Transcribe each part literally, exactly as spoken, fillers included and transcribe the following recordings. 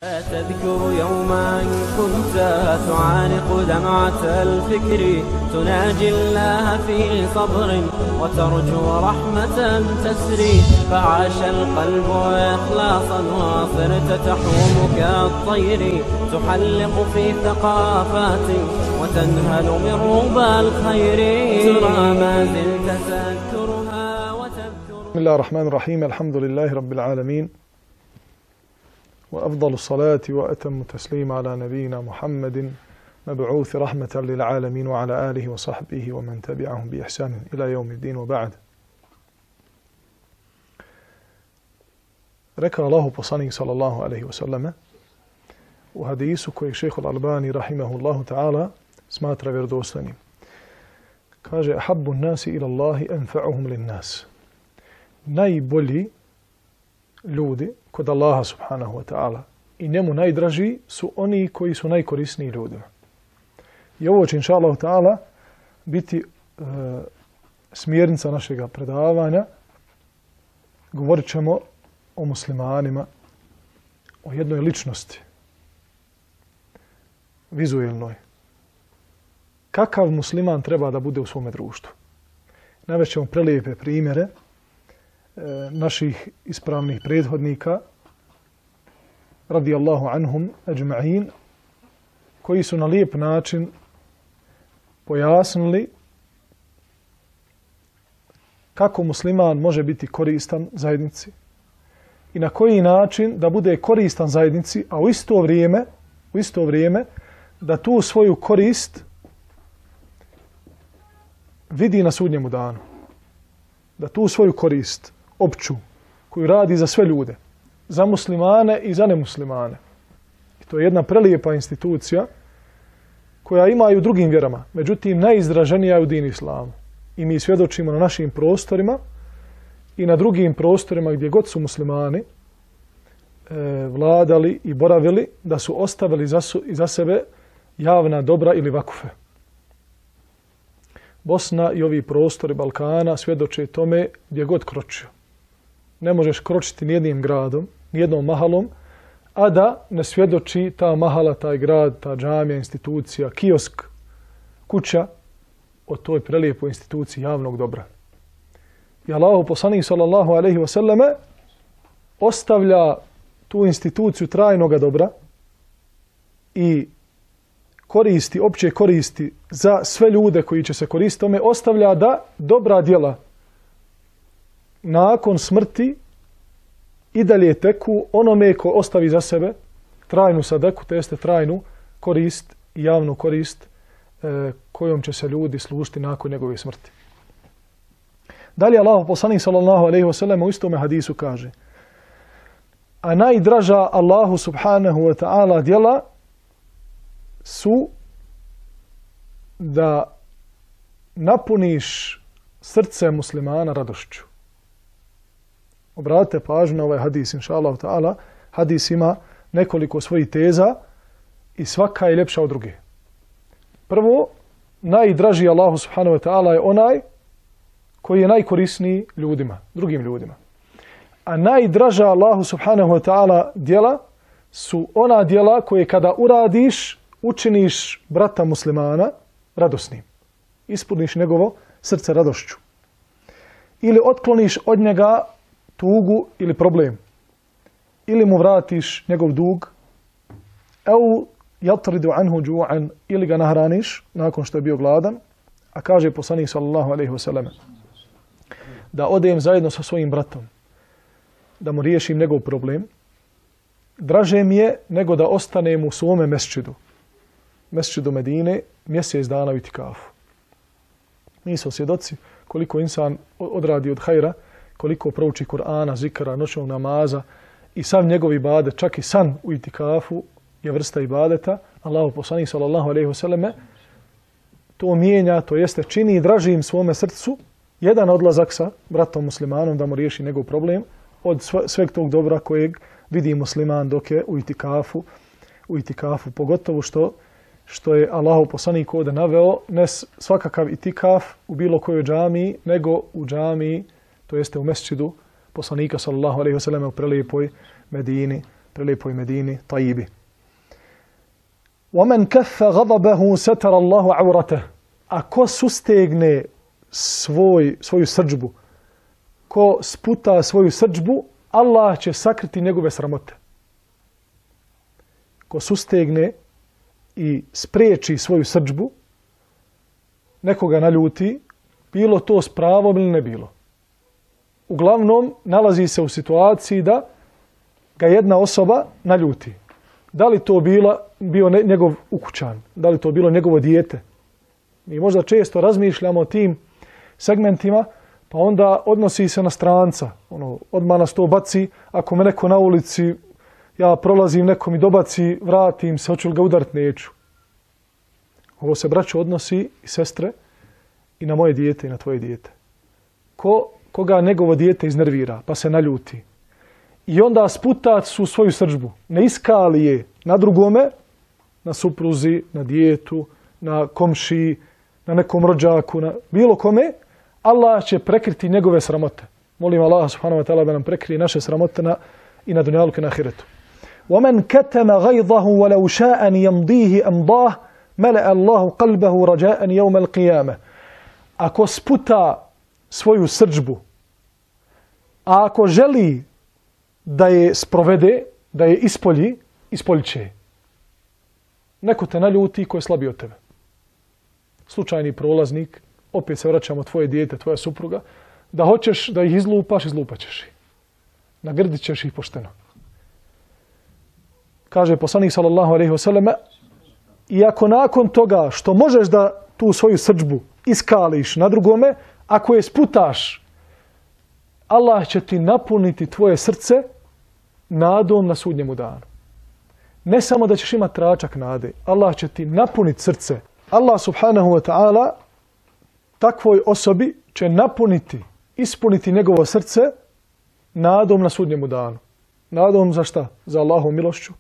تذكر يوما كنت تعانق دمعة الفكر تناجي الله في صبر وترجو رحمة تسري فعاش القلب إخلاصا وصرت تحوم كالطير تحلق في ثقافات وتنهل من ربى الخير ترى ما زلت تذكرها وتذكر. بسم الله الرحمن الرحيم. الحمد لله رب العالمين وأفضل الصلاة وأتم التسليم على نبينا محمد مبعوث رحمة للعالمين وعلى آله وصحبه ومن تبعهم بإحسان إلى يوم الدين وبعد. Rekao Allahu poslanik sallallahu alejhi ve selleme u hadisu koji šejh al-Albani rahimahullahu ta'ala smatra vjerodostojnim. Kaže: "Habbu an-nasi ila Allahi anfa'uhum lin-nas." Najbolji ljudi kod Allaha subhanahu wa ta'ala i njemu najdraži su oni koji su najkorisniji ljudima. I ovo će inša Allah ta'ala biti e, smjernica našega predavanja. Govorit ćemo o muslimanima, o jednoj ličnosti, vizuelnoj. Kakav musliman treba da bude u svome društvu? Navest ćemo prelijepe primjere e, naših ispravnih prethodnika radijallahu anhum ajma'in, koji su na lijep način pojasnili kako musliman može biti koristan zajednici i na koji način da bude koristan zajednici, a u isto vrijeme, u isto vrijeme da tu svoju korist vidi na sudnjemu danu. Da tu svoju korist opću koju radi za sve ljude, za muslimane i za nemuslimane. I to je jedna prelijepa institucija koja ima i u drugim vjerama, međutim najizraženija je u dini islamu. I mi svjedočimo na našim prostorima i na drugim prostorima gdje god su muslimani e, vladali i boravili, da su ostavili za, su, za sebe javna dobra ili vakufe. Bosna i ovi prostori Balkana svjedoče tome gdje god kročio. Ne možeš kročiti nijednim gradom, nijednom mahalom, a da ne svjedoči ta mahala, taj grad, ta džamija, institucija, kiosk, kuća o toj prelijepoj instituciji javnog dobra. I Allahu poslanik sallallahu alejhi ve selleme ostavlja tu instituciju trajnoga dobra i koristi, opće koristi za sve ljude koji će se koristiti tome, ostavlja da dobra djela nakon smrti i dalje teku onome ko ostavi za sebe trajnu sadeku, to jeste trajnu korist i javnu korist e, kojom će se ljudi služiti nakon njegove smrti. Dalje Allah poslanik sallallahu alejhi ve sellem u istome hadisu kaže: a najdraža Allahu subhanahu wa ta'ala djela su da napuniš srce muslimana radošću. Obratite pažnju na ovaj hadis, inša Allah ta'ala. Hadis ima nekoliko svojih teza i svaka je ljepša od druge. Prvo, najdraži Allahu subhanahu wa ta'ala je onaj koji je najkorisniji ljudima, drugim ljudima. A najdraža Allahu subhanahu wa ta'ala djela su ona djela koje kada uradiš, učiniš brata muslimana radosnim. Ispuniš njegovo srce radošću. Ili otkloniš od njega tugu ili problem. Ili mu vratiš njegov dug. Au yatridu anhu ju'an, ili ga nahraniš nakon što je bio gladan. A kaže poslanik sallallahu alejhi ve sellem da odem zajedno sa svojim bratom, da mu riješim njegov problem, draže mi je nego da ostanem u svome mesčidu, mesčidu Medine, mjesec dana u itikafu. Mi smo svjedoci koliko insan odradi od hajra, koliko prouči Kur'ana, zikra, noćnog namaza i sav njegov ibadet, čak i san u itikafu je vrsta ibadeta. Allahu poslanik sallallahu alejhi ve selleme to mijenja, to jeste čini dražim svome srcu jedan odlazak sa bratom muslimanom da mu riješi njegov problem od sveg tog dobra kojeg vidi musliman dok je u itikafu, u itikafu pogotovo što što je Allahov poslanik ovdje naveo, ne svakakav itikaf u bilo kojoj džamiji, nego u džamiji, to jeste u mesčidu poslanika sallallahu alejhi ve selleme u prelijepoj Medini prelepoj Medini, Tajibi. وَمَنْ كَفَّ غَضَبَهُ سَتَرَ اللَّهُ عَوْرَتَهُ. A ko sustegne svoj, svoju srdžbu, ko sputa svoju srdžbu, Allah će sakriti njegove sramote. Ko sustegne i spriječi svoju srdžbu, nekoga naljuti, bilo to s pravom ili ne bilo. Uglavnom, nalazi se u situaciji da ga jedna osoba naljuti. Da li to bila, bio ne, njegov ukućan, da li to bilo njegovo dijete. Mi možda često razmišljamo o tim segmentima, pa onda odnosi se na stranca. Ono, odmah nas to baci, ako me neko na ulici, ja prolazim, neko mi dobaci, vratim se, hoću li ga udarit, neću. Ovo se, braćo, odnosi i sestre i na moje dijete i na tvoje dijete. Ko, koga njegovo dijete iznervira, pa se naljuti. I onda sputa su svoju srdžbu. Ne iskali je na drugome, na supruzi, na dijetu, na komšiji, na nekom rođaku, na bilo kome, Allah će prekriti njegove sramote. Molim Allah subhanahu wa ta'ala da nam prekrije naše sramote na, i na dunjaluku i na ahiretu. وَمَنْ كَتَمَ غَيْضَهُ وَلَوْ شَاءَ أَنْ يَمْضِيهِ أَمْضَاهُ مَلَأَ اللَّهُ قَلْبَهُ رَجَاءً يَوْمَ الْقِيَامَةِ. Ako sputa svoju srdžbu, a ako želi da je sprovede, da je ispolji, ispoljit će. Neko te naljuti ko je slabiji od tebe. Slučajni prolaznik, opet se vraćamo tvoje dijete, tvoja supruga, da hoćeš da ih izlupaš, izlupaćeš ih. Nagrdit ćeš ih pošteno. Kaže poslanik sallallahu alejhi ve selleme, i ako nakon toga što možeš da tu svoju srdžbu iskališ na drugome, ako je sputaš, Allah će ti napuniti tvoje srce nadom na sudnjemu danu. Ne samo da ćeš imati tračak nade, Allah će ti napuniti srce. Allah subhanahu wa ta'ala takvoj osobi će napuniti, ispuniti njegovo srce nadom na sudnjemu danu. Nadom za šta? Za Allahovu milošću,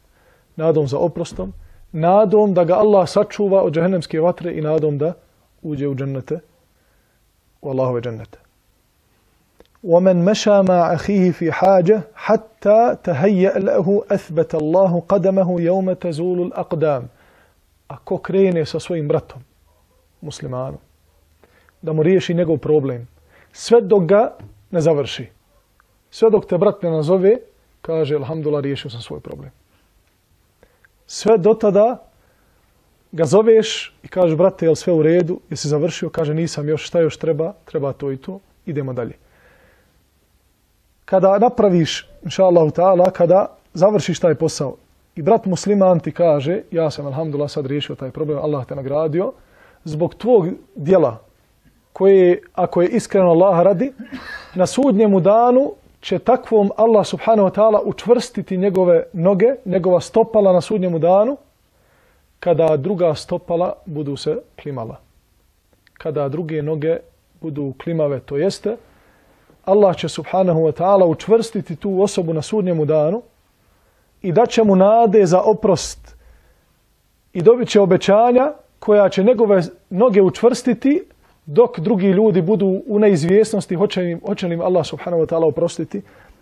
nadom za oprostom, nadom da ga Allah sačuva od džehennemske vatre i nadom da uđe u džennete, u Allahove džennete. وَمَنْ مَشَى مَعَ أَخِيهِ فِي حَاجَةٍ حَتَّى تَهَيَّأَ لَهُ أَثْبَتَ اللَّهُ قَدَمَهُ يَوْمَ تَزُولُ الْأَقْدَامِ. Ako krene sa svojim bratom, muslimanom, da mu riješi njegov problem, sve dok ga ne završi. Sve dok te brat ne nazove, kaže, alhamdulillah, riješio sam svoj problem. Sve do tada ga zoveš i kažeš, brate, je li sve u redu? Jesi završio? Kaže, nisam još, šta još treba? Treba to i to. Idemo dalje. Kada napraviš, inša Allahu ta'ala, kada završiš taj posao i brat musliman ti kaže, ja sam, alhamdulillah, sad riješio taj problem, Allah te nagradio, zbog tvog djela, koje, ako je iskreno Allah radi, na sudnjemu danu će takvom Allah subhanahu wa ta'ala učvrstiti njegove noge, njegova stopala na sudnjemu danu, kada druga stopala budu se klimala. Kada druge noge budu klimave, to jeste, Allah će subhanahu wa ta'ala učvrstiti tu osobu na sudnjemu danu i daće mu nade za oprost i dobit će obećanja koja će njegove noge učvrstiti dok drugi ljudi budu u neizvjesnosti hoće li, hoće li im Allah subhanahu wa ta'ala oprostiti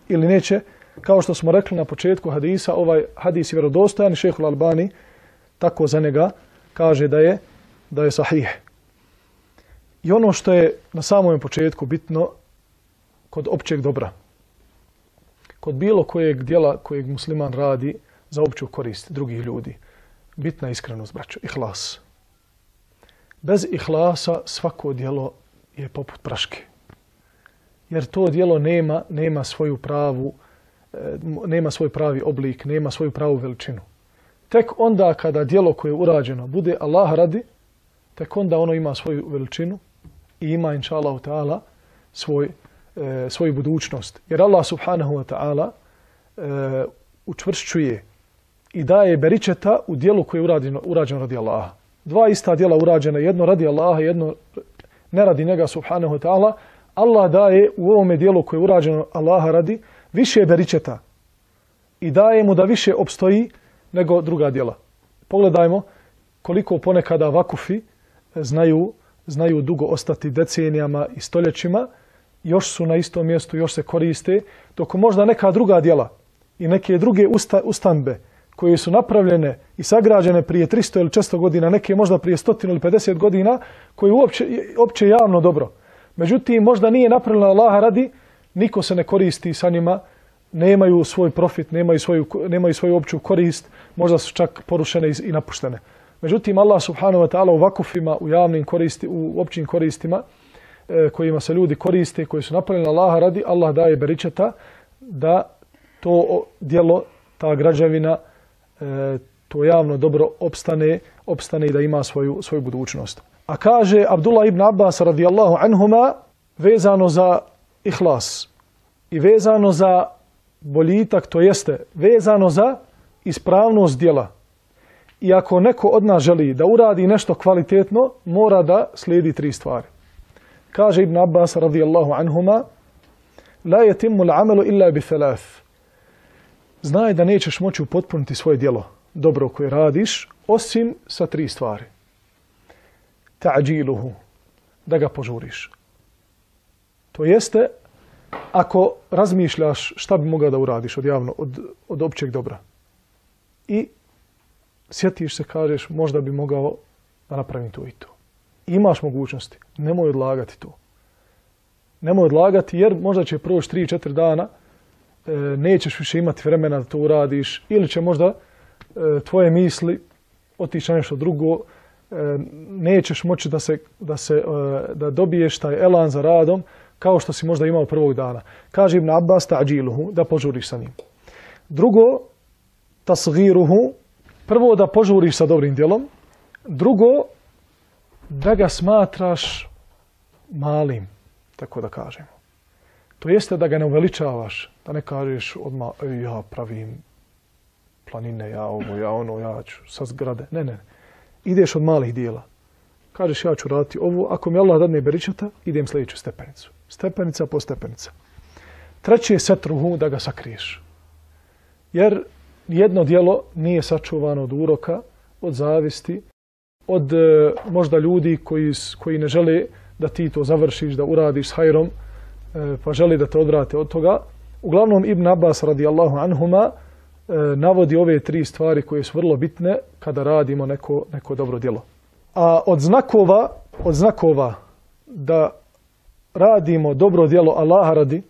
ili neće. Kao što smo rekli na početku hadisa, ovaj hadis je vjerodostojan, šejh Al-Albani tako za njega kaže da je, da je sahih. I ono što je na samom početku bitno kod općeg dobra, kod bilo kojeg djela kojeg musliman radi za opću korist drugih ljudi, bitna je iskrenost, braćo, ihlas. Bez ihlasa svako djelo je poput praške. Jer to djelo nema, nema svoju pravu, nema svoj pravi oblik, nema svoju pravu veličinu. Tek onda kada djelo koje je urađeno bude Allah radi, tek onda ono ima svoju veličinu i ima, inša Allahu ta'ala, svoj, e, svoju budućnost. Jer Allah subhanahu wa ta'ala e, učvršćuje i daje beričeta u djelu koje je urađeno, urađeno radi Allaha. Dva ista djela urađena, jedno radi Allaha, jedno ne radi njega subhanahu wa ta'ala. Allah daje u ovome djelu koje je urađeno Allaha radi više beričeta i daje mu da više opstoji nego druga djela. Pogledajmo koliko ponekada vakufi znaju, znaju dugo ostati decenijama i stoljećima, još su na istom mjestu, još se koriste, dok možda neka druga djela i neke druge usta, ustanbe koje su napravljene i sagrađene prije tristo ili četiristo godina, neke možda prije sto ili pedeset godina, koje uopće, uopće javno dobro. Međutim, možda nije napravljena Allaha radi, niko se ne koristi sa njima, nemaju svoj profit, nemaju svoju, nemaju svoju opću korist, možda su čak porušene i napuštene. Međutim, Allah subhanahu wa ta'ala u vakufima, u javnim koristi, u općim koristima, e, kojima se ljudi koriste, koji su napravljeni Allaha radi, Allah daje beričeta da to djelo, ta građevina, e, to javno dobro opstane, opstane i da ima svoju, svoju budućnost. A kaže Abdullah ibn Abbas radijallahu anhuma vezano za ihlas i vezano za boljitak, to jeste vezano za ispravnost djela. I ako neko od nas želi da uradi nešto kvalitetno, mora da slijedi tri stvari. Kaže Ibn Abbas radijallahu anhuma, la yatimmu al-amalu illa bi thalath. Znaj da nećeš moći upotpuniti svoje djelo, dobro koje radiš, osim sa tri stvari. Ta'điluhu, da ga požuriš. To jeste, ako razmišljaš šta bi mogao da uradiš od javno, od, od općeg dobra i sjetiš se, kažeš, možda bi mogao da napravim to i to. Imaš mogućnosti, nemoj odlagati to. Nemoj odlagati jer možda će proći tri četiri dana, e, nećeš više imati vremena da to uradiš ili će možda e, tvoje misli otići na nešto drugo, e, nećeš moći da, se, da, se, e, da dobiješ taj elan za radom kao što si možda imao prvog dana. Kaže Ibn Abbas, ta'điluhu, da požuriš sa njim. Drugo, tasgiruhu, prvo da požuriš sa dobrim djelom, drugo da ga smatraš malim, tako da kažemo. To jeste da ga ne uveličavaš, da ne kažeš odmah ja pravim planine, ja ovo, ja ono, ja ću sa zgrade. Ne, ne, ideš od malih dijela. Kažeš ja ću raditi ovo, ako mi Allah dadne beričeta, idem sljedeću stepenicu. Stepenica po stepenica. Treće je setruhu, da ga sakriješ. Jer jedno djelo nije sačuvano od uroka, od zavisti, od e, možda ljudi koji, koji ne žele da ti to završiš, da uradiš s hajrom, e, pa želi da te odvrate od toga. Uglavnom Ibn Abbas radijallahu anhuma e, navodi ove tri stvari koje su vrlo bitne kada radimo neko, neko dobro djelo. A od znakova, od znakova da radimo dobro djelo Allaha radi,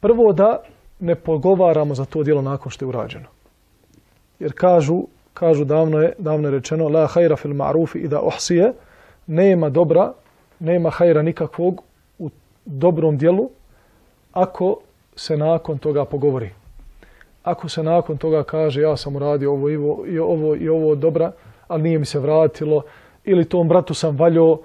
prvo da ne pogovaramo za to djelo nakon što je urađeno. Jer kažu, kažu davno je, davno je rečeno la hajra fil ma'rufi ida uhsije, nema dobra, nema hajra nikakvog u dobrom djelu ako se nakon toga pogovori. Ako se nakon toga kaže ja sam uradio ovo i ovo i ovo, i ovo dobra, ali nije mi se vratilo, ili tom bratu sam valjao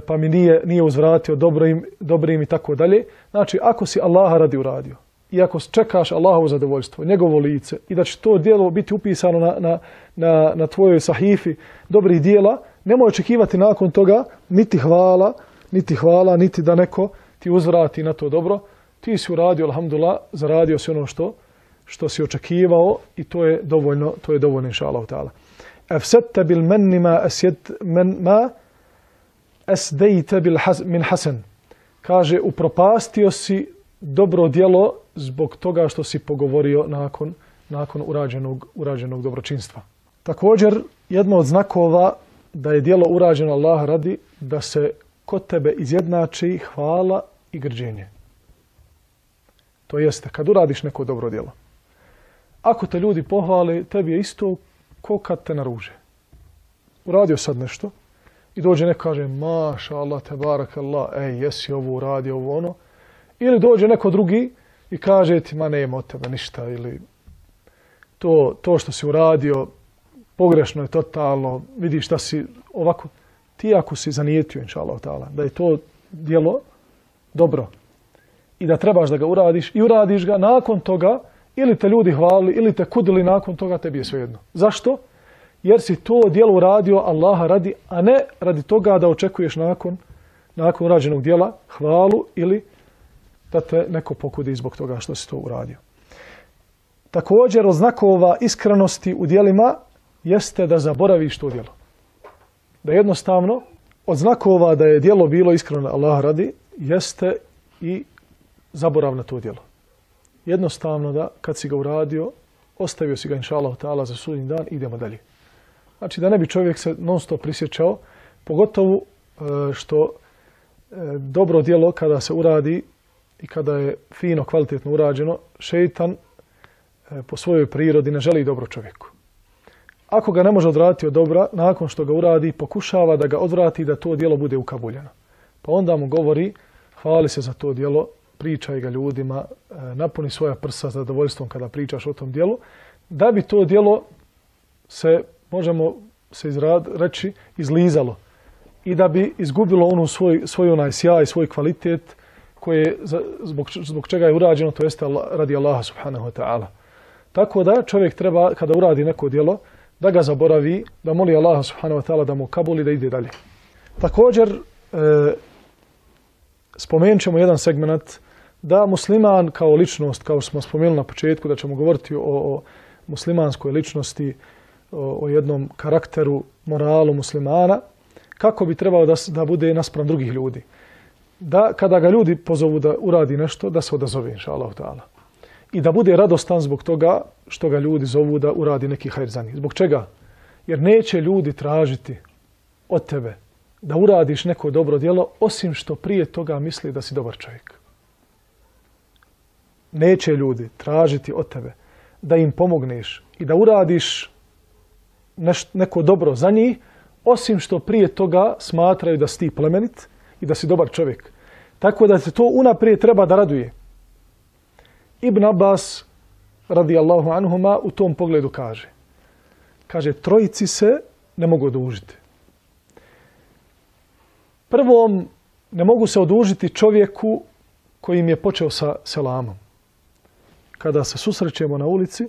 pa mi nije, nije uzvratio dobrim, dobrim i tako dalje. Znači, ako si Allaha radi uradio i ako čekaš Allahovo zadovoljstvo, njegovo lice i da će to djelo biti upisano na, na, na, na tvojoj sahifi dobrih djela, nemoj očekivati nakon toga niti hvala, niti hvala, niti da neko ti uzvrati na to dobro. Ti si uradio, alhamdulillah, zaradio si ono što, što si očekivao i to je dovoljno, to je dovoljno, inša Allah ta'ala. Afsadta bil manni ma asjad man ma asdejte bil has, min hasan. Kaže, upropastio si dobro djelo zbog toga što si pogovorio nakon, nakon urađenog, urađenog dobročinstva. Također, jedno od znakova da je djelo urađeno Allah radi, da se kod tebe izjednači hvala i grđenje. To jeste, kad uradiš neko dobro djelo. Ako te ljudi pohvale, tebi je isto ko kad te naruže. Uradio sad nešto i dođe neko kaže maša Allah, te barak Allah, ej, jesi ovo uradio, ovo ono. Ili dođe neko drugi i kaže ti, ma nema od tebe ništa, ili to, to što si uradio pogrešno je totalno, vidiš šta si ovako. Ti ako si zanijetio, inša Allah ta'ala, da je to djelo dobro i da trebaš da ga uradiš i uradiš ga, nakon toga ili te ljudi hvalili ili te kudili, nakon toga tebi je svejedno. Zašto? Jer si to djelo uradio Allaha radi, a ne radi toga da očekuješ nakon, nakon urađenog djela hvalu ili da te neko pokudi zbog toga što si to uradio. Također od znakova iskrenosti u djelima jeste da zaboraviš to djelo. Da jednostavno od znakova da je djelo bilo iskreno Allah radi jeste i zaborav na to djelo. jednostavno da kad si ga uradio, ostavio si ga inša Allah ta'ala za sudnji dan, idemo dalje. Znači da ne bi čovjek se non stop prisjećao, pogotovo što dobro djelo kada se uradi i kada je fino, kvalitetno urađeno, šeitan po svojoj prirodi ne želi dobro čovjeku. Ako ga ne može odvratiti od dobra, nakon što ga uradi, pokušava da ga odvrati da to djelo bude ukabuljeno. Pa onda mu govori, hvali se za to djelo, pričaj ga ljudima, napuni svoja prsa zadovoljstvom kada pričaš o tom djelu, da bi to djelo se, možemo se izrad, reći, izlizalo i da bi izgubilo onu svoj, svoj onaj sjaj, svoj kvalitet koje zbog, zbog čega je urađeno, to jeste radi Allaha subhanahu wa ta'ala. Tako da čovjek treba, kada uradi neko djelo, da ga zaboravi, da moli Allaha subhanahu wa ta'ala da mu kabuli, da ide dalje. Također, e, spomenut ćemo jedan segment da musliman kao ličnost, kao smo spomenuli na početku, da ćemo govoriti o, o muslimanskoj ličnosti, o, o jednom karakteru, moralu muslimana, kako bi trebao da, da bude naspram drugih ljudi. Da kada ga ljudi pozovu da uradi nešto, da se odazove, inša Allah ta'ala. I da bude radostan zbog toga što ga ljudi zovu da uradi neki hajr za njih. Zbog čega? Jer neće ljudi tražiti od tebe da uradiš neko dobro djelo, osim što prije toga misli da si dobar čovjek. Neće ljudi tražiti od tebe da im pomogneš i da uradiš neš, neko dobro za njih, osim što prije toga smatraju da si ti plemenit i da si dobar čovjek. Tako da se to unaprijed treba da raduje. Ibn Abbas, radijallahu anhuma, u tom pogledu kaže. Kaže, trojici se ne mogu odužiti. Prvom, ne mogu se odužiti čovjeku kojim je počeo sa selamom. Kada se susrećemo na ulici,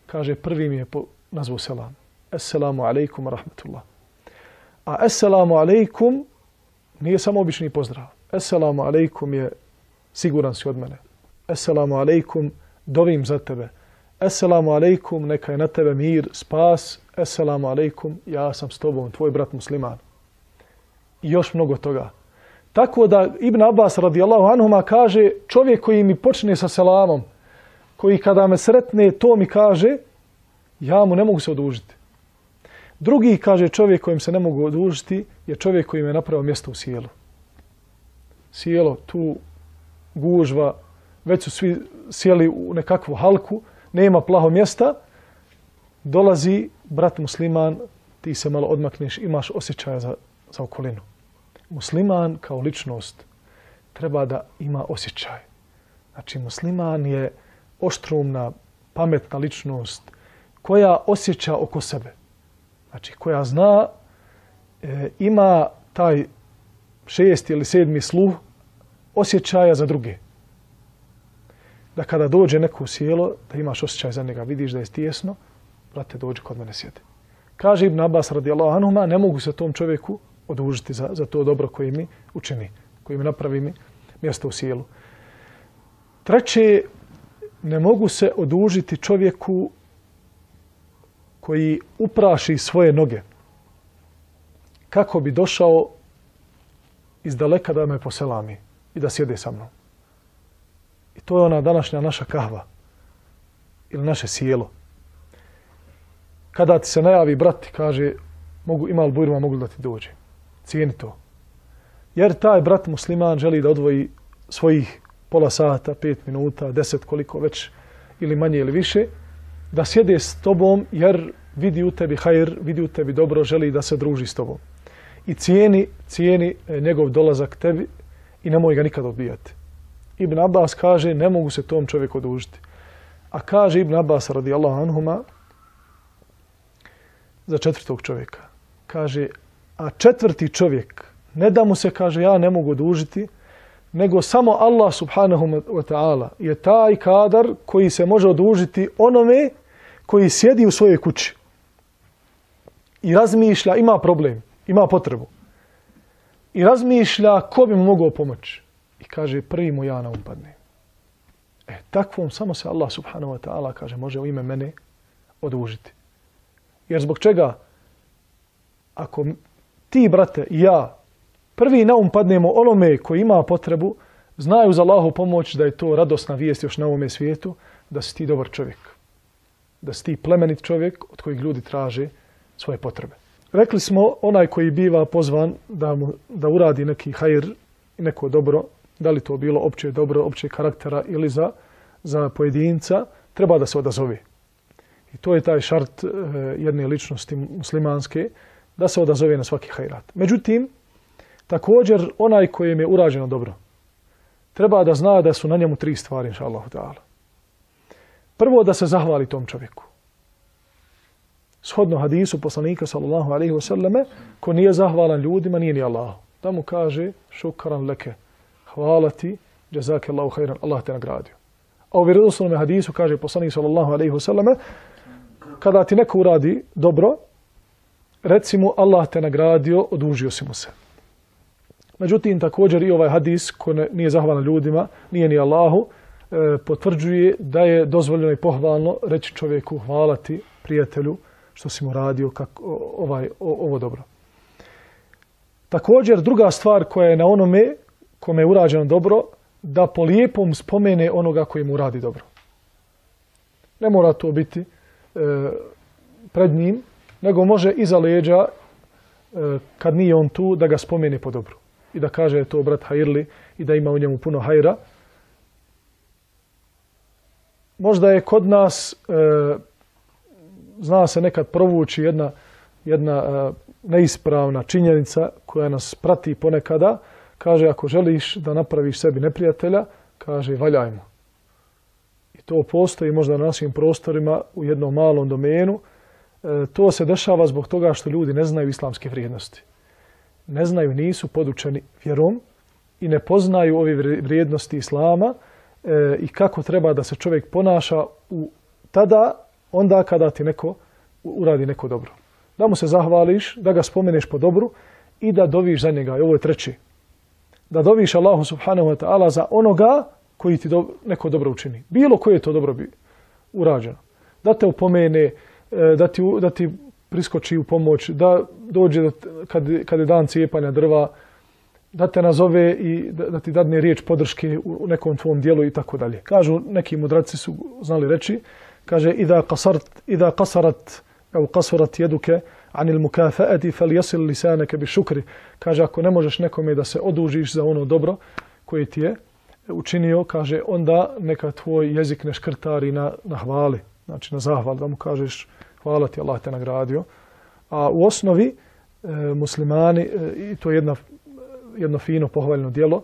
kaže, prvi mi je nazvao selam. Assalamu alaikum wa rahmatullah. A assalamu alaikum nije samo obični pozdrav. Assalamu alaikum je siguran si od mene. Assalamu alaikum, dovim za tebe. Assalamu alaikum, neka je na tebe mir, spas. Assalamu alaikum, ja sam s tobom, tvoj brat musliman. I još mnogo toga. Tako da Ibn Abbas radijallahu anhuma kaže, čovjek koji mi počne sa selamom, koji kada me sretne, to mi kaže, ja mu ne mogu se odužiti. Drugi, kaže, čovjek kojim se ne mogu odužiti je čovjek koji mi je napravio mjesto u sjelu. Sjelo, tu gužva, već su svi sjeli u nekakvu halku, nema plaho mjesta, dolazi brat musliman, ti se malo odmakneš, imaš osjećaja za, za okolinu. Musliman kao ličnost treba da ima osjećaj. Znači, musliman je oštrumna, pametna ličnost koja osjeća oko sebe. Znači, koja zna, e, ima taj šesti ili sedmi sluh osjećaja za druge. Da kada dođe neko u sjelo, da imaš osjećaj za njega, vidiš da je tijesno, brate, dođi kod mene sjedi. Kaže Ibn Abbas radijallahu anhuma, ne mogu se tom čovjeku odužiti za, za to dobro koje mi učini, koje mi napravi mi mjesto u sjelu. Treće, ne mogu se odužiti čovjeku koji upraši svoje noge kako bi došao iz daleka da me poselami i da sjede sa mnom. I to je ona današnja naša kahva ili naše sjelo. Kada ti se najavi brat i kaže, mogu, ima li bujruma, mogu da ti dođe. Cijeni to. Jer taj brat musliman želi da odvoji svojih pola sata, pet minuta, deset, koliko već, ili manje ili više, da sjede s tobom jer vidi u tebi hajr, vidi u tebi dobro, želi da se druži s tobom. I cijeni, cijeni njegov dolazak tebi i nemoj ga nikad odbijati. Ibn Abbas kaže, ne mogu se tom čovjeku odužiti. A kaže Ibn Abbas radijallahu anhuma za četvrtog čovjeka. Kaže, a četvrti čovjek, ne da mu se kaže, ja ne mogu odužiti, nego samo Allah subhanahu wa ta'ala je taj kadar koji se može odužiti onome koji sjedi u svojoj kući i razmišlja, ima problem, ima potrebu. I razmišlja ko bi mu mogao pomoći. I kaže, prvi mu ja na um padne. E, takvom samo se Allah subhanahu wa ta'ala kaže, može u ime mene odužiti. Jer zbog čega? Ako ti, brate, i ja, prvi na um padnemo onome koji ima potrebu, znaju za Allahu pomoć da je to radosna vijest još na ovome svijetu, da si ti dobar čovjek. Da si ti plemenit čovjek od kojeg ljudi traže svoje potrebe. Rekli smo, onaj koji biva pozvan da, mu, da uradi neki hajr i neko dobro, da li to bilo opće dobro, opće karaktera ili za, za pojedinca, treba da se odazove. I to je taj šart e, jedne ličnosti muslimanske, da se odazove na svaki hajrat. Međutim, također onaj kojem je urađeno dobro, treba da zna da su na njemu tri stvari, inša Allahu ta'ala. Prvo, da se zahvali tom čovjeku. Shodno hadisu poslanika sallallahu alaihi wa sallame, ko nije zahvalan ljudima, nije ni Allahu. Da mu kaže, šukran leke, hvala ti, jazake Allahu hajran, Allah te nagradio. A u vjerodostojnom hadisu kaže poslanik sallallahu alaihi wa sallame, kada ti neko uradi dobro, reci mu Allah te nagradio, odužio si mu se. Međutim, također i ovaj hadis, ko ne, nije zahvalan ljudima, nije ni Allahu, e, potvrđuje da je dozvoljeno i pohvalno reći čovjeku hvala ti, prijatelju, što si mu radio kako, ovaj, o, ovo dobro. Također, druga stvar koja je na onome kome je urađeno dobro, da po lijepom spomene onoga koji mu radi dobro. Ne mora to biti e, pred njim, nego može iza leđa, e, kad nije on tu, da ga spomene po dobru. I da kaže je to brat hajrli i da ima u njemu puno hajra. Možda je kod nas, e, zna se nekad provući jedna, jedna e, neispravna činjenica koja nas prati ponekada. Kaže, ako želiš da napraviš sebi neprijatelja, kaže, valjajmo. I to postoji možda na našim prostorima u jednom malom domenu. E, to se dešava zbog toga što ljudi ne znaju islamske vrijednosti. Ne znaju, nisu podučeni vjerom i ne poznaju ove vrijednosti islama e, i kako treba da se čovjek ponaša u tada, onda kada ti neko uradi neko dobro. Da mu se zahvališ, da ga spomeneš po dobru i da doviš za njega. I ovo je treći. Da doviš Allahu subhanahu wa ta'ala za onoga koji ti do, neko dobro učini. Bilo koje to dobro bi urađeno. Da te upomene, da ti, da ti priskoči u pomoć, da dođe da, kad, kad je dan cijepanja drva, da te nazove i da, da ti dadne riječ podrške u nekom tvom dijelu i tako dalje. Kažu, neki mudraci su znali reći, kaže, idha qasart, idha qasarat, au qasurat jeduke, anil mukafaati falyasil lisanaka bishukri. Kaže, ako ne možeš nekome da se odužiš za ono dobro koje ti je učinio, kaže, onda neka tvoj jezik ne škrtari na, na hvali, znači na zahval, da mu kažeš hvala ti, Allah te nagradio. A u osnovi e, muslimani, e, i to je jedna, jedno fino pohvaljno djelo,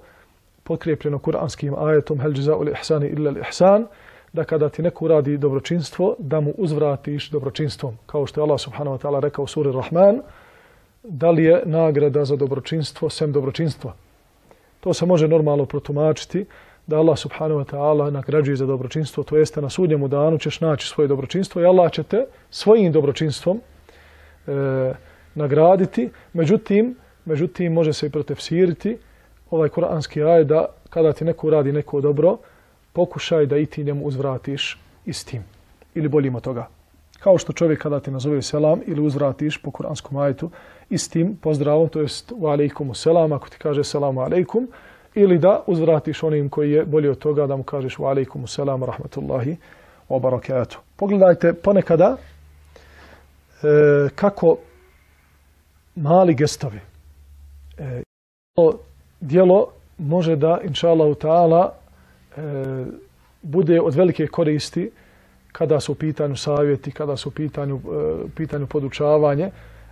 potkrijepljeno kuranskim ajetom hel džeza'u ihsani illa ihsan, da kada ti neko uradi dobročinstvo, da mu uzvratiš dobročinstvom. Kao što je Allah subhanahu wa ta'ala rekao u suri Rahman, da li je nagrada za dobročinstvo sem dobročinstva. To se može normalno protumačiti, da Allah subhanahu wa ta'ala nagrađuje za dobročinstvo, to jeste na sudnjemu danu ćeš naći svoje dobročinstvo i Allah će te svojim dobročinstvom e, nagraditi. Međutim, međutim, može se i protefsiriti ovaj kuranski ajet da kada ti neko uradi neko dobro, pokušaj da i ti njemu uzvratiš istim ili boljim od toga. Kao što čovjek kada ti nazove selam ili uzvratiš po kuranskom ajetu istim pozdravom, to jest wa alejkumu selam, ako ti kaže selamu alejkum, ili da uzvratiš onim koji je bolji od toga da mu kažeš wa alejkumu selam rahmatullahi wa barakatuh. Pogledajte ponekada e, kako mali gestovi e, djelo može da inša Allahu ta'ala e, bude od velike koristi kada su u pitanju savjeti, kada su u pitanju, e, pitanju podučavanje,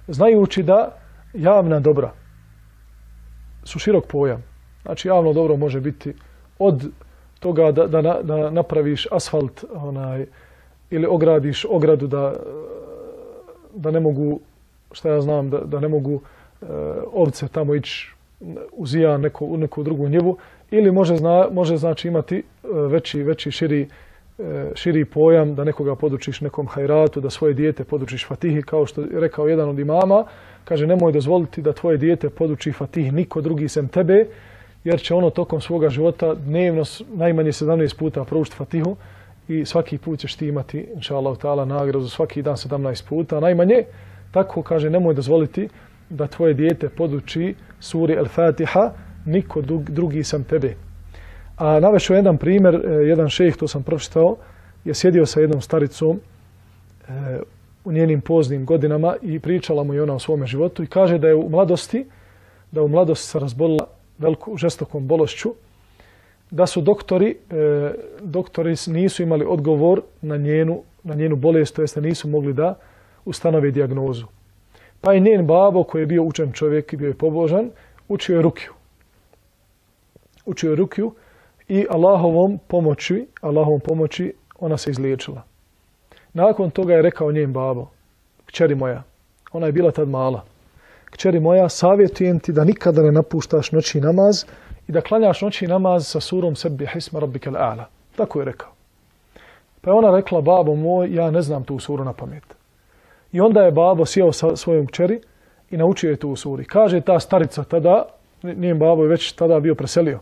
znajući da javna dobra su širok pojam. Znači javno dobro može biti od toga da, da, da napraviš asfalt onaj, ili ogradiš ogradu da, da ne mogu, šta ja znam, da, da ne mogu e, ovce tamo ići uzija neko, u neku drugu njivu, ili može, zna, može znači imati veći, veći širi, širi pojam da nekoga podučiš nekom hajratu, da svoje dijete podučiš Fatihi, kao što je rekao jedan od imama, kaže nemoj dozvoliti da tvoje dijete poduči Fatihi niko drugi sem tebe, jer će ono tokom svoga života dnevno najmanje sedamnaest puta proučiti Fatihu i svaki put ćeš ti imati, inša Allah ta'ala, nagradu svaki dan sedamnaest puta. Najmanje, tako kaže, nemoj dozvoliti da tvoje dijete poduči suri Al-Fatiha niko drugi sem tebe. A navešao jedan primjer, jedan šejh, to sam pročitao, je sjedio sa jednom staricom e, u njenim poznim godinama i pričala mu je ona o svome životu i kaže da je u mladosti, da u mladosti se razbolila veliku, žestokom bolešću, da su doktori, e, doktori nisu imali odgovor na njenu, na njenu bolest, to jest da nisu mogli da ustanove dijagnozu. Pa je njen babo, koji je bio učen čovjek i bio je pobožan, učio je rukiju. Učio je rukiju i Allahovom pomoći, Allahovom pomoći ona se izliječila. Nakon toga je rekao njen babo, kćeri moja, ona je bila tad mala, kćeri moja, savjetujem ti da nikada ne napuštaš noći namaz i da klanjaš noći namaz sa surom Sebbih isma rabbikal a'la. Tako je rekao. Pa je ona rekla, babo moj, ja ne znam tu suru na pamet. I onda je babo sjeo sa svojom kćeri i naučio je tu suri. Kaže ta starica tada, njen babo je već tada bio preselio.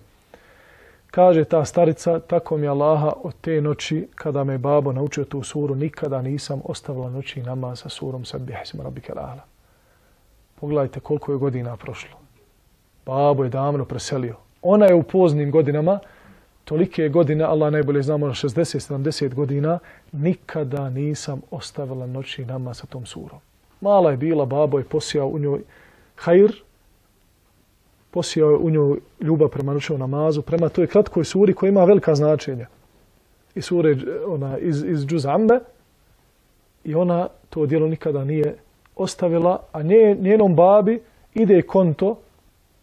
Kaže ta starica, tako mi Allaha od te noći kada me babo naučio tu suru, nikada nisam ostavila noći namaz sa surom Sebbih isma rabbikal a'la. Pogledajte koliko je godina prošlo. Babo je davno preselio. Ona je u poznim godinama, tolike godine, Allah najbolje znamo, šezdeset sedamdeset godina, nikada nisam ostavila noći namaz sa tom surom. Mala je bila, babo je posijao u njoj hajr, posijao je u njoj ljubav prema noćnom namazu, prema toj kratkoj suri koja ima velika značenja. I sure ona, iz, iz Džuz Ambe, i ona to djelo nikada nije ostavila, a nje, njenom babi ide konto,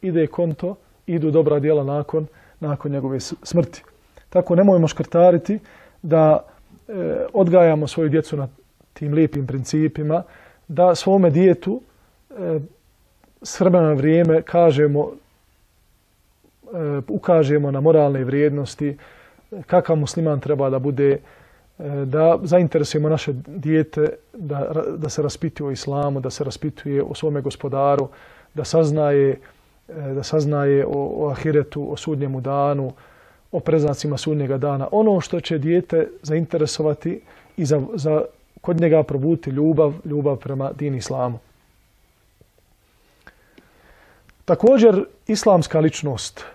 ide konto, idu dobra djela nakon, nakon njegove smrti. Tako nemojmo škrtariti da e, odgajamo svoju djecu na tim lijepim principima, da svome djetu e, s vremena na vrijeme kažemo, e, ukažemo na moralne vrijednosti, kakav musliman treba da bude, e, da zainteresujemo naše dijete da, da se raspituje o islamu, da se raspituje o svome gospodaru, da saznaje da saznaje o, o ahiretu, o sudnjemu danu, o preznacima sudnjega dana. Ono što će dijete zainteresovati i za, za kod njega probuditi ljubav, ljubav prema din islamu. Također, islamska ličnost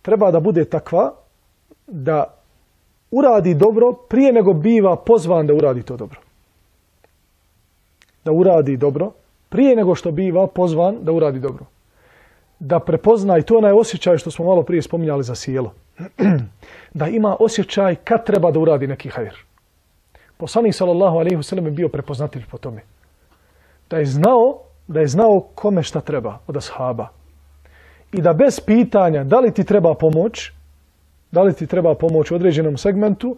treba da bude takva da uradi dobro prije nego biva pozvan da uradi to dobro. Da uradi dobro prije nego što biva pozvan da uradi dobro. Da prepozna, i to je onaj osjećaj što smo malo prije spominjali za sjelo, da ima osjećaj kad treba da uradi neki hajr. Poslanik sallallahu alejhi ve sellem je bio prepoznatljiv po tome. Da je znao, da je znao kome šta treba od ashaba. I da bez pitanja da li ti treba pomoć, da li ti treba pomoć u određenom segmentu,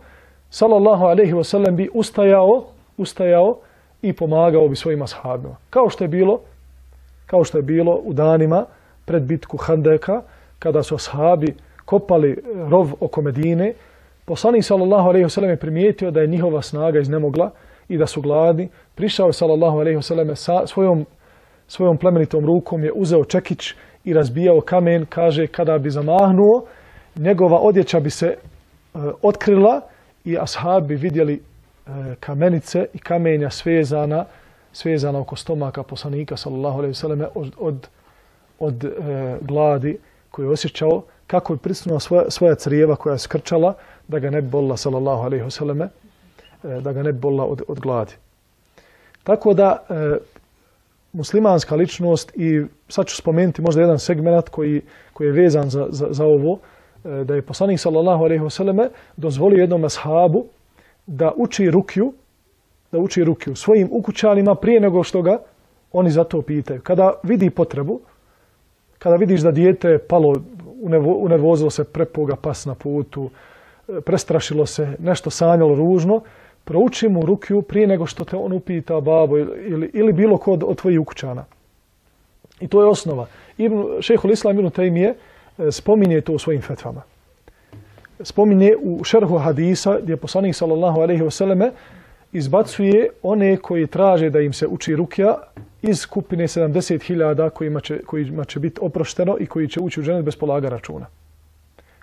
sallallahu alejhi ve sellem bi ustajao, ustajao i pomagao bi svojim ashabima. Kao što je bilo, kao što je bilo u danima pred bitku Handeka, kada su ashabi kopali rov oko Medine, poslanik sallallahu alejhi ve sellem je primijetio da je njihova snaga iznemogla i da su gladni. Prišao je sallallahu alejhi ve sellem sa svojom, svojom plemenitom rukom, je uzeo čekić i razbijao kamen, kaže kada bi zamahnuo, njegova odjeća bi se uh, otkrila i ashabi vidjeli kamenice i kamenja svezana, svezana oko stomaka poslanika sallallahu alejhi ve selleme od, od, od e, gladi koju je osjećao, kako je prisutna svoja, svoja crijeva koja je skrčala da ga ne bi bolila sallallahu alejhi ve selleme, e, da ga ne bi bolila od, od gladi. Tako da e, muslimanska ličnost, i sad ću spomenuti možda jedan segment koji, koji je vezan za, za, za ovo, e, da je poslanik sallallahu alejhi ve selleme dozvolio jednom ashabu da uči rukju, da uči rukju svojim ukućanima prije nego što ga oni za to pitaju. Kada vidi potrebu, kada vidiš da dijete je palo, unervozilo se, prepuga pas na putu, prestrašilo se, nešto sanjalo ružno, prouči mu rukju prije nego što te on upita babo ili, ili bilo ko od tvojih ukućana. I to je osnova. Ibn, šejhul Islam ibn Tejmije spominje to u svojim fetvama. Spominje u šerhu hadisa gdje poslanik sallallahu alejhi ve selleme izbacuje one koji traže da im se uči rukja iz skupine sedamdeset hiljada kojima će, kojima će biti oprošteno i koji će ući u dženet bez polaga računa.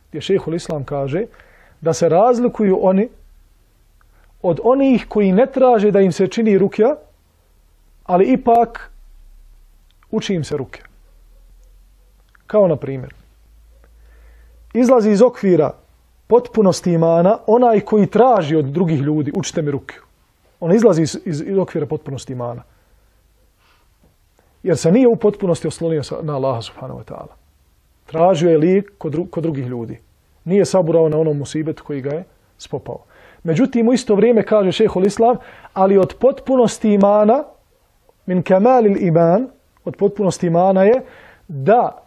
Gdje šejhul Islam kaže da se razlikuju oni od onih koji ne traže da im se čini rukja, ali ipak uči im se rukja. Kao na primjer, izlazi iz okvira potpunosti imana onaj koji traži od drugih ljudi, učite mi rukiju. On izlazi iz, iz, iz okvira potpunosti imana. Jer se nije u potpunosti oslonio na Allaha subhanahu wa ta'ala. Tražio je lijek kod, dru, kod drugih ljudi. Nije saburao na onom musibetu koji ga je spopao. Međutim, u isto vrijeme kaže šejhul Islam, ali od potpunosti imana, min kamalil iman, od potpunosti imana je da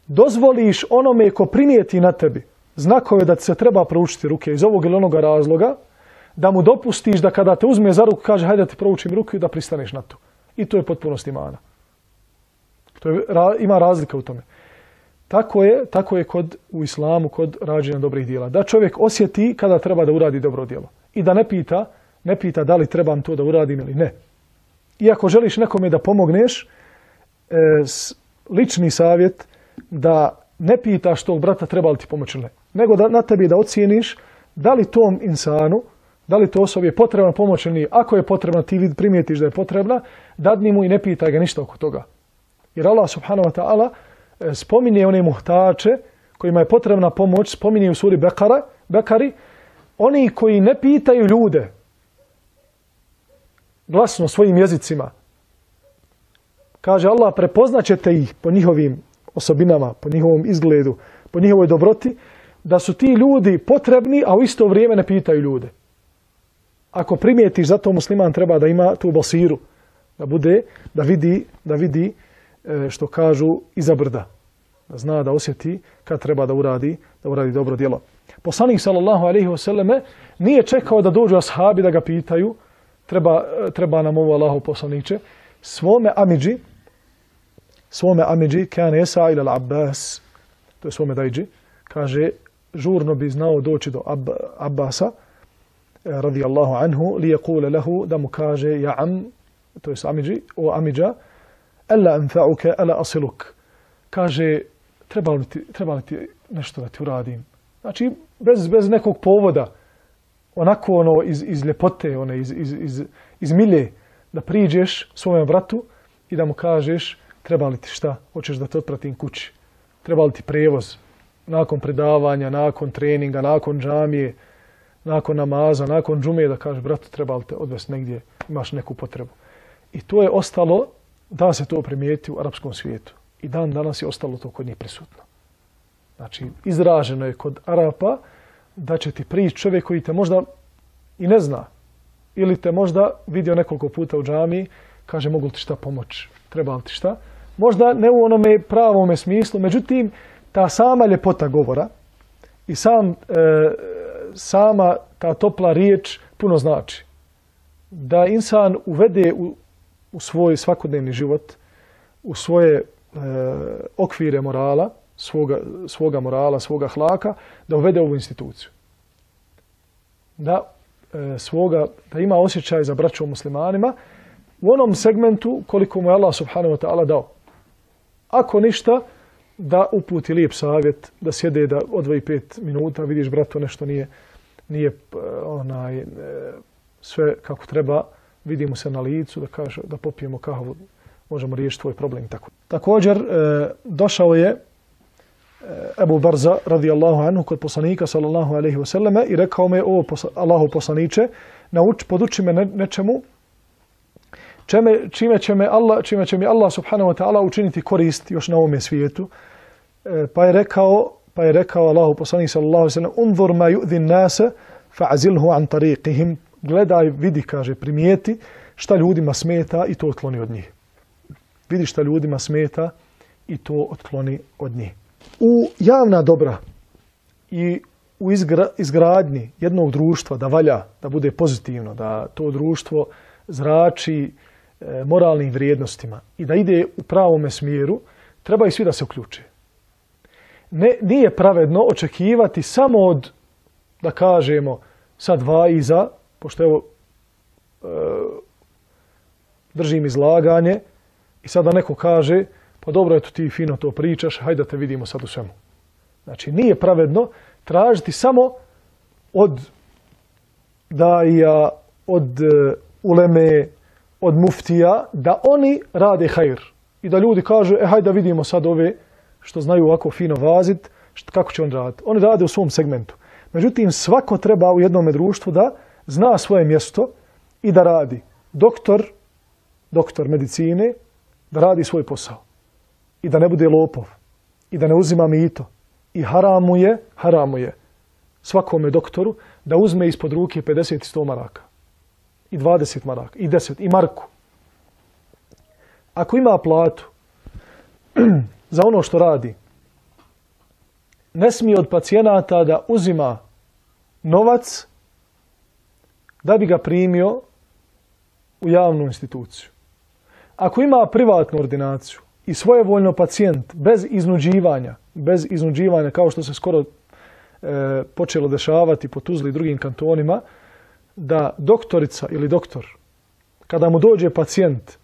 dozvoliš onome ko primijeti na tebi znakove da ti se treba proučiti ruke iz ovog ili onoga razloga, da mu dopustiš da kada te uzme za ruku kaže hajde da ti proučim ruku i da pristaneš na to. I to je potpunost imana. To je, ima razlika u tome. Tako je, tako je kod, u islamu kod rađenja dobrih djela. Da čovjek osjeti kada treba da uradi dobro djelo. I da ne pita, ne pita da li trebam to da uradim ili ne. Iako želiš nekome da pomogneš, e, lični savjet da ne pitaš tog brata treba li ti pomoći ili ne. Nego da na tebi da ocijeniš da li tom insanu, da li to osobi je potrebna pomoć ili nije. Ako je potrebna, ti primijetiš da je potrebna, dadni mu i ne pitaj ga ništa oko toga. Jer Allah subhanahu wa ta'ala spominje one muhtače kojima je potrebna pomoć, spominje u suri Bekara, Bekari, oni koji ne pitaju ljude glasno svojim jezicima. Kaže Allah, prepoznaćete ih po njihovim osobinama, po njihovom izgledu, po njihovoj dobroti, da su ti ljudi potrebni, a u isto vrijeme ne pitaju ljude. Ako primijetiš, zato musliman treba da ima tu basiru, da bude, da vidi, da vidi što kažu iza brda. Da zna, da osjeti kad treba da uradi, da uradi dobro djelo. Poslanik sallallahu alejhi ve selleme nije čekao da dođu ashabi da ga pitaju, treba, treba nam ovo Allahu poslaniče, svome amidži, svome amidži, kan yasa ila al-Abbas, to je svome dajđi, kaže, žurno bi znao doći do Ab, Abbasa, radijallahu anhu, li yaqula lahu, da mu kaže, ja am, to je amidži, o amidža, Ela anfa'uka, ela asiluk. Kaže, treba li ti, treba li ti nešto da ti uradim? Znači, bez, bez nekog povoda, onako ono iz, iz ljepote, one, iz, iz, iz, iz milje, da priđeš svome bratu i da mu kažeš, treba li ti šta? Hoćeš da te otpratim kući? Treba li ti prevoz? Nakon predavanja, nakon treninga, nakon džamije, nakon namaza, nakon džume, da kažeš, bratu, treba li te odvesti negdje, imaš neku potrebu. I to je ostalo, da se to primijeti u arapskom svijetu. I dan danas je ostalo to kod njih prisutno. Znači, izraženo je kod Arapa da će ti prići čovjek koji te možda i ne zna. Ili te možda vidio nekoliko puta u džamiji, kaže mogu li ti šta pomoći, treba li ti šta. Možda ne u onome pravome smislu, međutim, ta sama ljepota govora i sam, e, sama ta topla riječ puno znači. Da insan uvede u u svoj svakodnevni život, u svoje e, okvire morala, svoga, svoga morala, svoga hlaka, da uvede ovu instituciju. Da, e, svoga, da ima osjećaj za braću muslimanima u onom segmentu koliko mu je Allah subhanahu wa ta'ala dao. Ako ništa, da uputi lijep savjet, da sjede, da odvoji pet minuta, vidiš bratu nešto nije, nije onaj, e, sve kako treba, vidimo se na licu, da kaže da popijemo kahvu, možemo riješiti tvoj problem i tako. Također e, došao je e, Ebu Barza radijallahu anhu kod poslanika sallallahu alejhi ve selleme i rekao me o posla, Allahu poslaniče, nauči, poduči me ne, nečemu čime, čime će me Allah, čime će mi Allah subhanahu wa ta'ala učiniti korist još na ovome svijetu. E, pa je rekao, pa je rekao Allahu poslanik sallallahu alejhi ve sellem: "Unzur ma yu'zi an-nasa fa'azilhu an tariqihim." Gledaj, vidi, kaže, primijeti šta ljudima smeta i to otkloni od njih. Vidi šta ljudima smeta i to otkloni od njih. U javna dobra i u izgra, izgradnji jednog društva da valja, da bude pozitivno, da to društvo zrači e, moralnim vrijednostima i da ide u pravome smjeru, treba i svi da se uključe. Ne, nije pravedno očekivati samo od, da kažemo, sad vaiza, pošto evo e, držim izlaganje i sada neko kaže, pa dobro, eto ti fino to pričaš, hajde da te vidimo sad u svemu. Znači, nije pravedno tražiti samo od daija, od uh, uleme, od muftija, da oni rade hajr. I da ljudi kažu, e hajde da vidimo sad ove što znaju ovako fino vazit, Što, kako će on raditi? Oni rade u svom segmentu. Međutim, svako treba u jednom društvu da zna svoje mjesto i da radi. Doktor, doktor medicine, da radi svoj posao. I da ne bude lopov. I da ne uzima mito. I haramu je, haramu je svakome doktoru da uzme ispod ruke pedeset i sto maraka. I dvadeset maraka. I deset. I marku. Ako ima platu za ono što radi, ne smije od pacijenata da uzima novac da bi ga primio u javnu instituciju. Ako ima privatnu ordinaciju i svojevoljno pacijent bez iznuđivanja, bez iznuđivanja kao što se skoro e, počelo dešavati po Tuzli i drugim kantonima, da doktorica ili doktor, kada mu dođe pacijent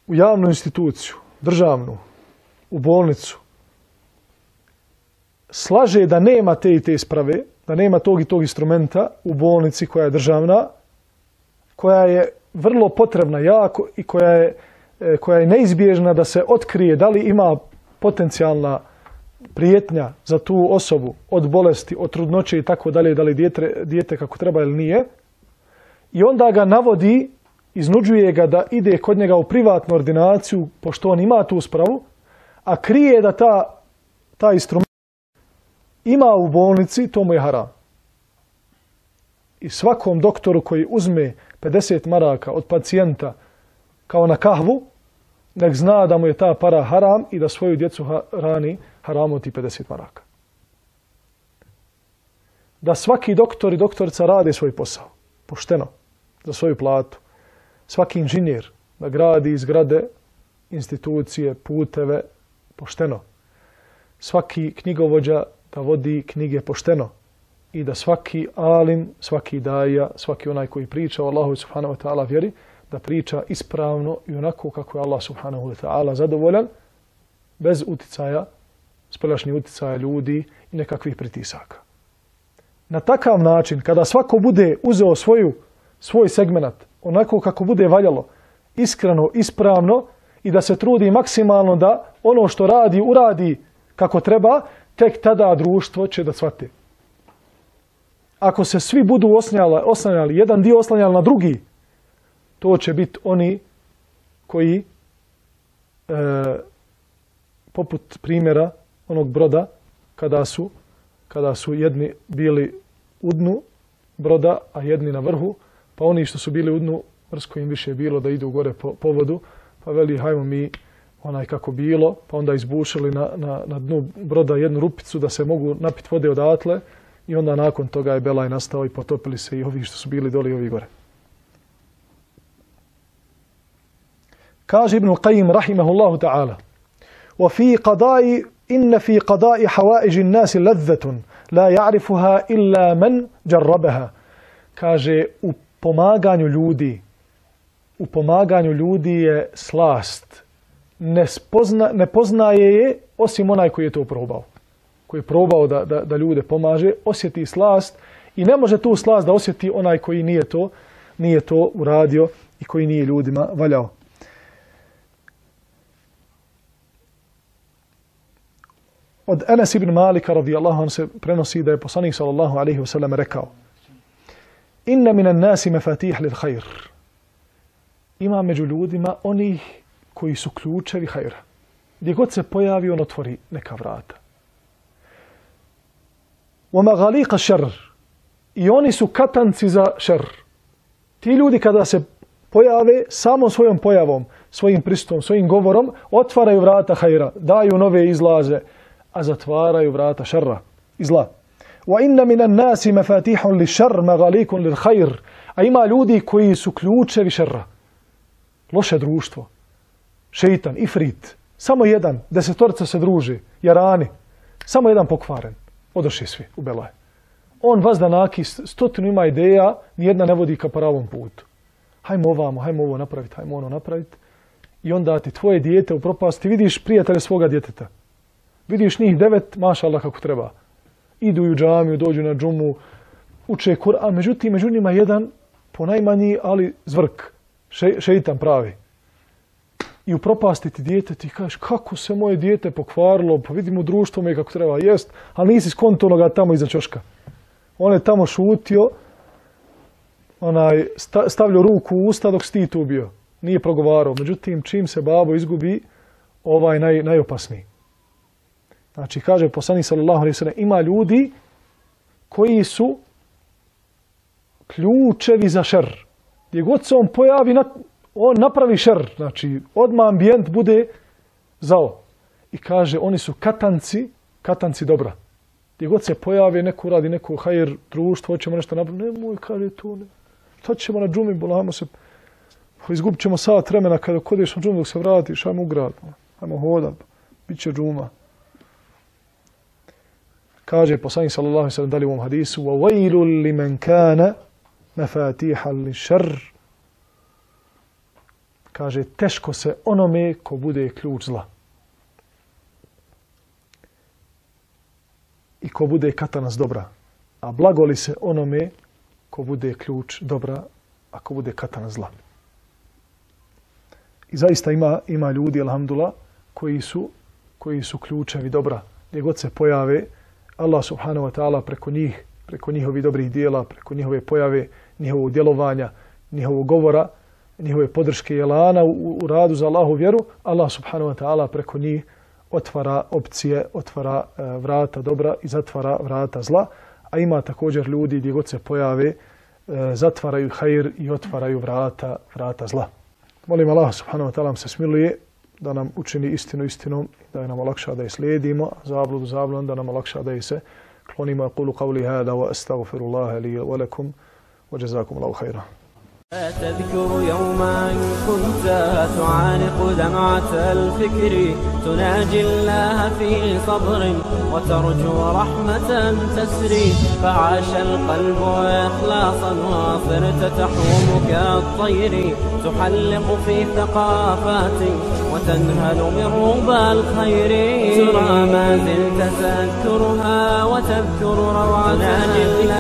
u javnu instituciju, državnu, u bolnicu, slaže da nema te i te isprave, da nema tog i tog instrumenta u bolnici koja je državna, koja je vrlo potrebna jako i koja je, koja je neizbježna da se otkrije da li ima potencijalna prijetnja za tu osobu od bolesti, od trudnoće i tako dalje, da li dijete, dijete kako treba ili nije. I onda ga navodi, iznuđuje ga da ide kod njega u privatnu ordinaciju, pošto on ima tu spravu, a krije da ta, ta instrument ima u bolnici, to mu je haram. I svakom doktoru koji uzme pedeset maraka od pacijenta kao na kahvu, nek zna da mu je ta para haram i da svoju djecu hrani haramom ti pedeset maraka. Da svaki doktor i doktorica rade svoj posao, pošteno, za svoju platu. Svaki inženjer da gradi zgrade, institucije, puteve, pošteno. Svaki knjigovođa da vodi knjige pošteno. I da svaki alim, svaki daja, svaki onaj koji priča o Allahu subhanahu wa ta'ala vjeri, da priča ispravno i onako kako je Allah subhanahu wa ta'ala zadovoljan, bez uticaja, spoljašnjih uticaja ljudi i nekakvih pritisaka. Na takav način, kada svako bude uzeo svoju, svoj segment, onako kako bude valjalo, iskreno, ispravno i da se trudi maksimalno da ono što radi, uradi kako treba, tek tada društvo će da shvati. Ako se svi budu oslanjali, oslanjali jedan dio oslanjali na drugi, to će biti oni koji, e, poput primjera onog broda, kada su, kada su jedni bili u dnu broda, a jedni na vrhu, pa oni što su bili u dnu, mrsko im više bilo da idu gore po, po vodu, pa veli hajmo mi onaj kako bilo, pa onda izbušili na, na, na dnu broda jednu rupicu da se mogu napiti vode odatle i onda nakon toga je belaj nastao i potopili se i ovi što su bili dole i ovi gore. Kaže Ibn Qayyim rahimahullahu ta'ala: وَفِي قَضَاءِ إِنَّ فِي قَضَاءِ حَوَائِجِ النَّاسِ لَذَّةٌ لَا يَعْرِفُهَا إِلَّا مَنْ جَرَّبَهَا. Kaže, u pomaganju ljudi, u pomaganju ljudi je slast. Ne, spozna, ne poznaje je osim onaj koji je to probao. Koji je probao da, da, da ljude pomaže, osjeti slast i ne može tu slast da osjeti onaj koji nije to, nije to uradio i koji nije ljudima valjao. Od Enes ibn Malika radijallahu anhu se prenosi da je poslanik sallallahu alejhi ve sellem rekao: Inna minan nasi mafatih lil khair. Ima među ljudima onih koji su ključevi hajra. Gdje god se pojavi, on otvori neka vrata. Wa maghaliqa sharr. I oni su katanci za šer. Ti ljudi kada se pojave, samo svojom pojavom, svojim pristupom, svojim govorom, otvaraju vrata hajra, daju nove izlaze, a zatvaraju vrata šerra i zla. Wa inna minan nasi mafatihun li šer, maghalikun lil khair. A ima ljudi koji su ključevi šerra. Loše društvo. Šeitan, ifrit. Samo jedan, desetorica se druži, jarani. Samo jedan pokvaren. Odošli svi u belaj. On vas da naki, stotinu ima ideja, nijedna ne vodi ka pravom putu. Hajmo ovamo, hajmo ovo napraviti, hajmo ono napraviti. I onda ti tvoje dijete u propasti, vidiš prijatelje svoga djeteta. Vidiš njih devet, maša Allah kako treba. Idu u džamiju, dođu na džumu, uče Kur'an. Međutim, među njima jedan, ponajmanji, ali zvrk. Še, šeitan pravi. i upropastiti dijete, ti kažeš kako se moje dijete pokvarilo, pa vidimo društvo me kako treba jest, ali nisi skonto onoga tamo iza ćoška. On je tamo šutio, onaj, stavljao ruku u usta dok si ti tu bio. Nije progovarao. Međutim, čim se babo izgubi, ovaj naj, najopasniji. Znači, kaže poslanik sallallahu alejhi ve sellem, ima ljudi koji su ključevi za šer. Gdje god se on pojavi, on napravi šer. Znači, odmah ambijent bude zao. I kaže, oni su katanci, katanci dobra. Gdje god se pojave, neko radi, neko hajr društvo, hoćemo nešto napraviti. Nemoj, kaže tu, ne. Šta ćemo na džumi, bolamo se. Izgubit ćemo sat vremena kada kodeš na džumu dok se vratiš, ajmo u grad. Ajmo hodat, bit će džuma. Kaže poslanik sallallahu alejhi ve sellem dalje u ovom hadisu: "Wa wailul liman kana mafatiha lish-sharr." Kaže teško se onome ko bude ključ zla. I ko bude katanac dobra. A blagoli se onome ko bude ključ dobra, a ko bude katanac zla. I zaista ima ima ljudi, alhamdulillah, koji su koji su ključevi dobra. Gdje god se pojave, Allah subhanahu wa ta'ala preko njih, preko njihovih dobrih dijela, preko njihove pojave, njihovog djelovanja, njihovog govora, njihove podrške i elana u, u radu za Allahu vjeru, Allah subhanahu wa ta'ala preko njih otvara opcije, otvara e, vrata dobra i zatvara vrata zla. A ima također ljudi gdje god se pojave, e, zatvaraju hajr i otvaraju vrata, vrata zla. Molim Allah subhanahu wa ta'ala se smiluje da nam učini istinu istinom, da nam olakša da je slijedimo, zabludu zabludom, da nam olakša da je se klonimo. Aqulu qawli hada wa astaghfirullaha li wa lakum wa jazakum Allahu khairan. تذكر يوما كنت تعانق دمعة الفكر تناجي الله في صبر وترجو رحمة تسري فعاش القلب إخلاصا وصرت تحوم كالطير تحلق في ثقافات وتنهل من ربى الخير ترى ما زلت تذكرها وتذكر روعتها